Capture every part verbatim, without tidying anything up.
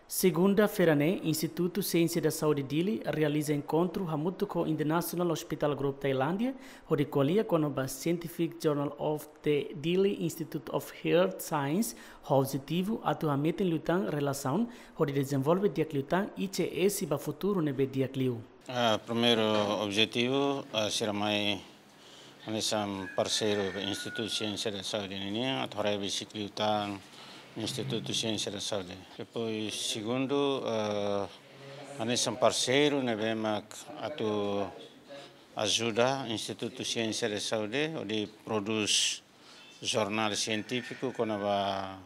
Segunda-feira ne'e, Institutu Siénsia da Saúde Dili realiza enkontru hamutuk ho International Hospital Group Tailándia, hodi ko'alia kona-ba Scientific Journal of the Dili Institute of Health Science, ho objetivu atu hametin liután relasaun hodi dezenvolve di'ak liután I C S ba futuru ne'ebé di'ak liu. Ah, primeiru objetivu, ah, sira mai hanesan parseiru Institutu Siénsia da Saúde ninian, atu haree besik liután Institutu Siénsia da Saúde. Depois, segundu, eh, hanesan parseiru ne'ebé mak atu ajuda Institutu Siénsia da Saúde hodi prodús jornál sientífiku kona-ba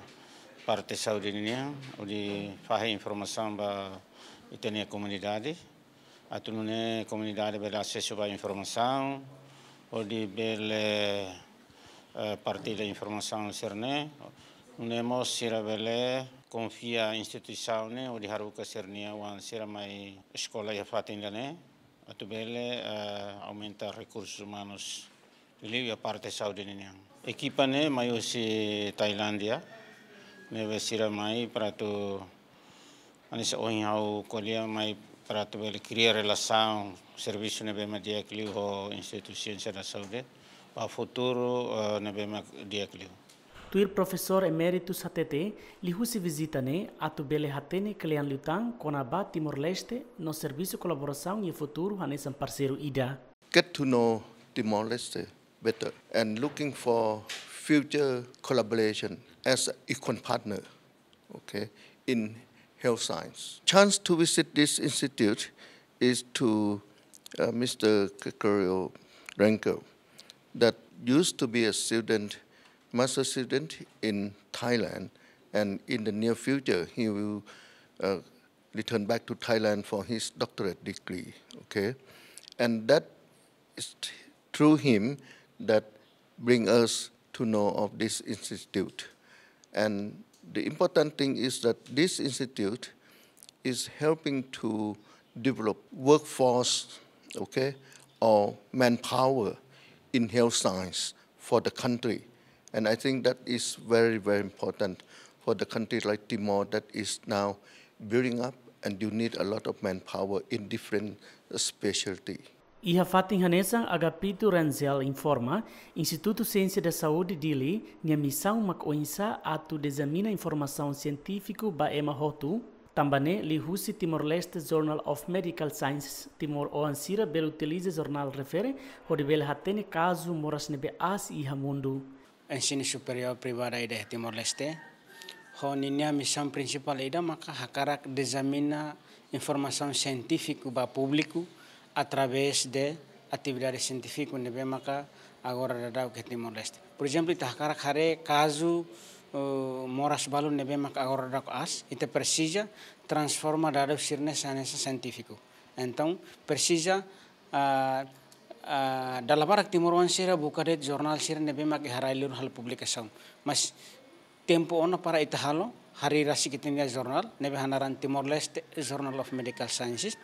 parte saúde ninian, hodi fahe informasaun ba ita-nia komunidade. Atu nune'e komunidade bele asesu ba informasaun, hodi bele, eh, partilla informasaun sira-ne'e, nune'e mós sira bele konfia instituisaun ne'e, hodi haruka sira-nia oan sira mai eskola iha fatin ida-ne'e, atu bele, eh, aumenta rekursus umanus liuliu iha parte saúde ninian. Ekipa ne'e mai husi Tailándia, ne'ebé sira mai para atu, hanesan ohin ha'u ko'alia, mai para atu bele kria relasaun servisu ne'ebé mak di'ak liu ho Institutu Siénsia da Saúde, ba futuru, eh, ne'ebé mak di'ak liu. Tuir Profesór Eméritus hatete, liuhusi vizita ne'e atu bele hatene kle'an liután kona-ba Timor-Leste no servisu kolaborasaun iha futuru hanesan parseiru ida. Get to know Timor-Leste better and looking for future collaboration as an equal partner, okay, in health science. Chance to visit this institute is to, uh, Mister Gregorio Renkel, that used to be a student, master student in Thailand, and in the near future he will, uh, return back to Thailand for his doctorate degree. Okay, and that is through him that bring us to know of this institute. And the important thing is that this institute is helping to develop workforce, okay, or manpower in health science for the country. And I think that is very, very important for the country like Timor that is now building up, and you need a lot of manpower in different specialty. Iha fatin hanesan, Agapito Rangel informa, Institutu Siénsia da Saúde Dili nia misaun mak oinsá atu dizemina informasaun sientífiku ba ema hotu, tanba ne'e liuhusi Timor-Leste Journal of Medical Sciences, Timor oan sira bele utiliza jornál refere hodi bele hatene kazu moras ne'ebé aas iha mundu. Ensinu superiór privada ida iha Timor-Leste, ho ninia misaun prinsipál ida maka hakarak dizemina informasaun sientífiku ba públiku através de atividade sientífiku ne'ebé maka agora daudaun iha Timor-Leste. Por ezemplu, ita hakarak haree kazu, eh, moras balu ne'ebé maka agora daudaun aas, ita presiza transforma dadus sira-ne'e hanesan sientífiku. Entaun, presiza, ah, ah, dala barak timoroan sira buka de'it jornál sira ne'ebé mak iha rai-liur halo publikasaun. Mas tempu ona para ita halo, harii rasik ita-nia jornál, ne'ebé hanaran Timor-Leste Journal of Medical Sciences.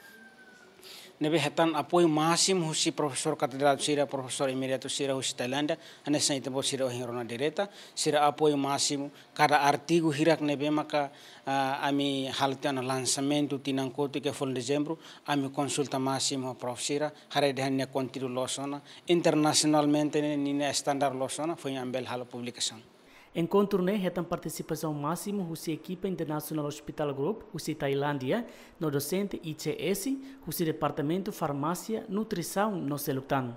Ne'ebé hetan apoiu másimu husi profesór katedrátiku sira, profesór eméritu sira husi Tailándia, hanesan ita-boot sira ohin rona direta, sira apoiu másimu, kada artigu hirak ne'ebé maka, ah, ami halo tiha ona lansamentu tinan kotuk iha folin Dezembru, ami konsulta másimu ho prof sira, haree dehan nia konteúdu loos ona, internasionalmente ne'e ninia standar loos ona, foin ami bele halo publikasaun. Enkontru ne'e hetan partisipasaun másimu husi ekipa International Hospital Group husi Tailándia, no dosente I C S husi Departamentu Farmásia, Nutrisaun no seluk tan.